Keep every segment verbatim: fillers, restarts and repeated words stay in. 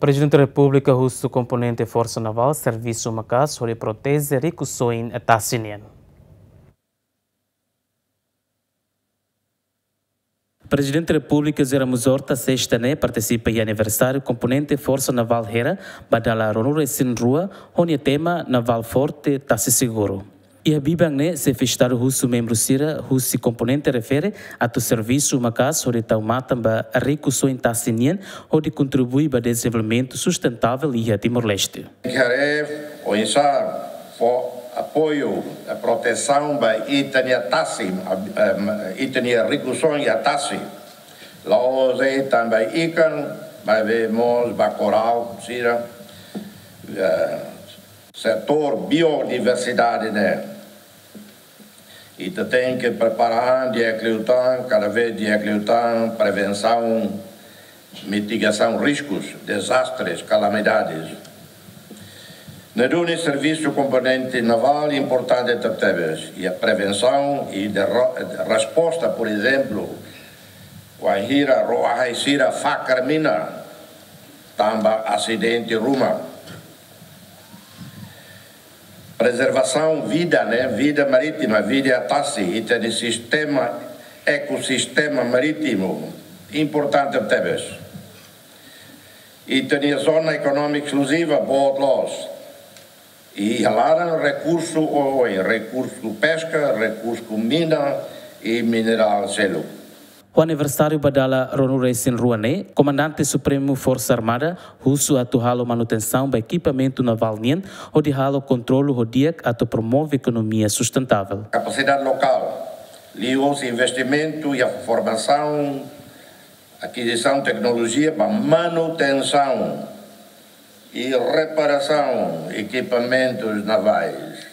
Prezidente Repúblika husu komponente Forsa Navál servisu maka'as hodi proteje rikusoin tasi nian. Prezidente Repúblika José Ramos Horta sesta ne'e partisipa iha aniversáriu komponente Forsa Navál Hera ba dala ruanulu-resin-rua ho nia tema Naval Forte, Tasi Seguru. Iha biban ne'e, Xefe Estadu husu membru sira husi komponente refere atu servisu maka'as hodi tau matan ba rikusoin tasi nian hodi kontribui ba dezenvolvimentu sustentável iha Timor-Leste. Haree oinsá fó apoiu, eh, protesaun ba ita-nia tasi, eh, ita-nia rikusoin iha tasi. La'ós de'it tan ba ikan, maibé mós ba korál sira, eh, setór biodiversidade ne'e. Ita tenke prepara an di'ak liután, kada vez di'ak liután, prevensaun, mitigasaun riskus, dezastres, kalamidades. Ne'e duni servisu komponente navál importante tebetebes, iha prevensaun i de ro-, resposta, por ezemplu, wainhira ró-ahi sira fakar mina, tanba asidente ruma. Prezervasaun vida, ne'e, vida marítima, vida iha tasi, ita-nia sistema, ekosistema marítimu, importante tebes. Ita-nia zona ekonómika eskluziva, boot loos. I iha laran rekursu oioin, rekursu peska, rekursu mina i minerál seluk. Ho aniversáriu ba dala ruanulu-resin-rua ne'e, Komandante Supremu Forsa Armada husu atu halo manutensaun ba ekipamentu navál nian, hodi halo kontrolu ho di'ak atu promove ekonomia sustentável. Kapasidade lokál, liuhosi investimentu iha formasaun, akizisaun teknolojia ba manutensaun i reparasaun ekipamentus navais.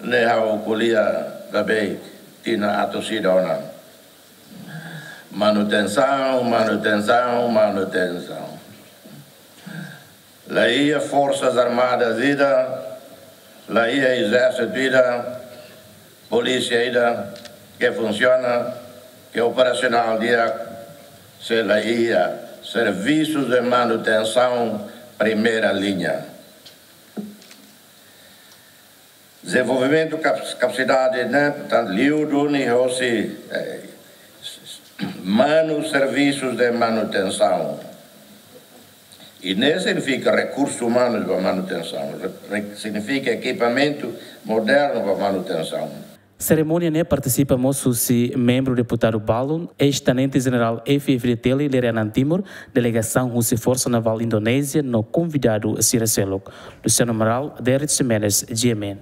Ne'e ha'u ko'alia ba beibeik tinan atus ida ona. Manutensaun, manutensaun, manutensaun. La iha Forsas Armadas ida, la iha ezérsitu ida, polísia ida ke funsiona, ke operasionál di'ak, se la iha servisus de manutensaun primeira liña. Dezenvolvimentu kap-, kapasidade ne'e, portantu, liu duni hosi, eh, manu servisus de manutensaun. I ne'e signifika rekursu umanu ba manutensaun, re-, re-, signifika ekipamentu modernu ba manutensaun. Serimónia ne'e partisipa mós husi membru deputadu balun, eis-tenente jenerál F-FDTL Lere Anan Timur, delegasaun husi Forsa Navál Indonézia no konvidadu sira seluk. Luciano Amaral, Derrick Ximenes, G M N.